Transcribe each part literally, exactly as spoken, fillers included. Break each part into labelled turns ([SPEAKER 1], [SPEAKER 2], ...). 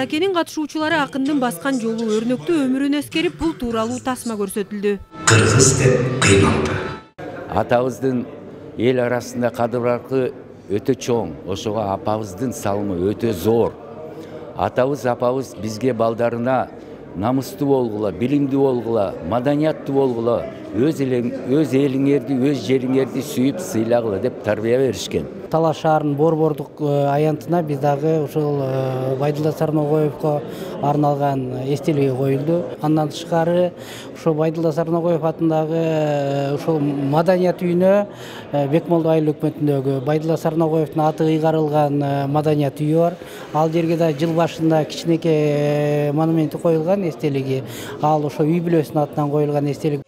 [SPEAKER 1] Аракенин катышуучулары акындын баскан жолу өрнөктүү өмүрүн эскерип, бул тууралуу тасма көрсөтүлдү.
[SPEAKER 2] Кыргыз деп кыйналды.
[SPEAKER 3] Атабыздын эл арасында кадыр-баркы өтө чоң, ошого апабыздын салымы өтө зор. Атабыз, апабыз бизге балдарына намыстуу болгула, билимдүү болгула, маданияттуу болгула, өз өз элиңерди, өз жериңерди сүйүп сыйлагыла деп тарбия беришкен.
[SPEAKER 4] Талаш шаарынын борбордук аянтына биз дагы ушул Байдылда Сарногоевго арналган эстелиги коюлду. Андан тышкары ушул Байдылда Сарногоев атындагы ушул маданият үйүнө Бекмолдо айыл өкмөтүндөгү Байдылда Сарногоевдун аты ыйгарылган маданият үйү бар. Ал жерге да жыл башында кичинекей монументи коюлган эстелиги. Ал ошо үй бүлөсүнүн атынан коюлган эстелик.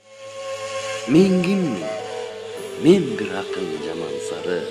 [SPEAKER 5] Мен киммин? Мен бир акын жаман сары.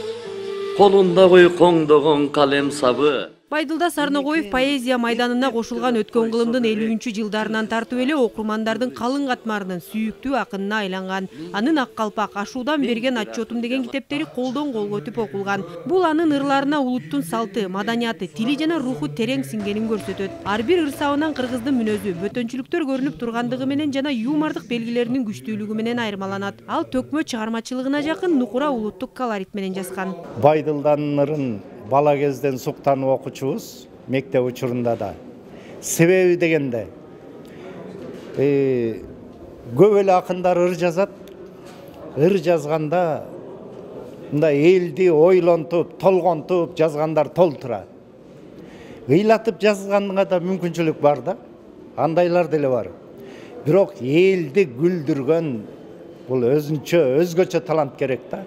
[SPEAKER 5] Колунда койкоңдогон калем сабы.
[SPEAKER 1] Байдылда Сарногоев поэзия майданына кошулган өткөн кылымдын элүүнчү жылдарынан тартып эле окурмандардын калың катмарынын сүйүктүү акынына айланган. Анын Ак калпак, Ашуудан берген отчетум деген китептери колдон колго өтүп окулган. Бул анын ырларына улуттун салты, маданияты, тили жана руху терең сиңгенин көрсөтөт. Ар бир ырсабынан кыргыздын мүнөзү, бөтөнчүлүктөр көрүнүп тургандыгы менен жана юмордук белгилеринин күчтүүлүгү менен айырмаланат. Ал төкмө чыгармачылыгына жакын нукура улуттук колорит менен жазган.
[SPEAKER 6] Байдылданын ырын бала кезден суктанып окучубуз, мектеп учурунда да. Себеби дегенде, э, көп эле акындар ыр жазат. Ыр жазганда мындай элди ойлонтуп, толгонтуп жазгандар толтура. Ыйлатып жазганга да мүмкүнчүлүк бар да. Андайлар деле бар. Бирок элди күлдүргөн бул өзүнчө, өзгөчө талант керек да.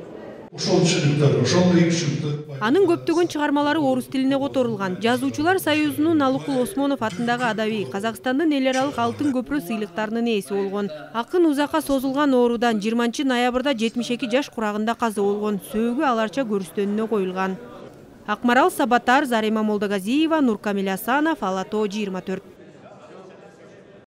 [SPEAKER 1] Анын көптөгөн чыгармалары орус тилине которулган. Жазуучулар союзунун Алыкул Осмонов атындагы адаби, Казакстандын эл аралык алтын көпүрө сыйлыктарынын ээси болгон. Акын узакка созулган оорудан жыйырманчы ноябрда жетимиш эки жаш курагында каза болгон. Сөөгү аларча көрүстөнүнө коюлган. Акмарал Сабатар, Зарема Молдогазиева, Нуркамил Асанов, Ала Тоо жыйырма төрт.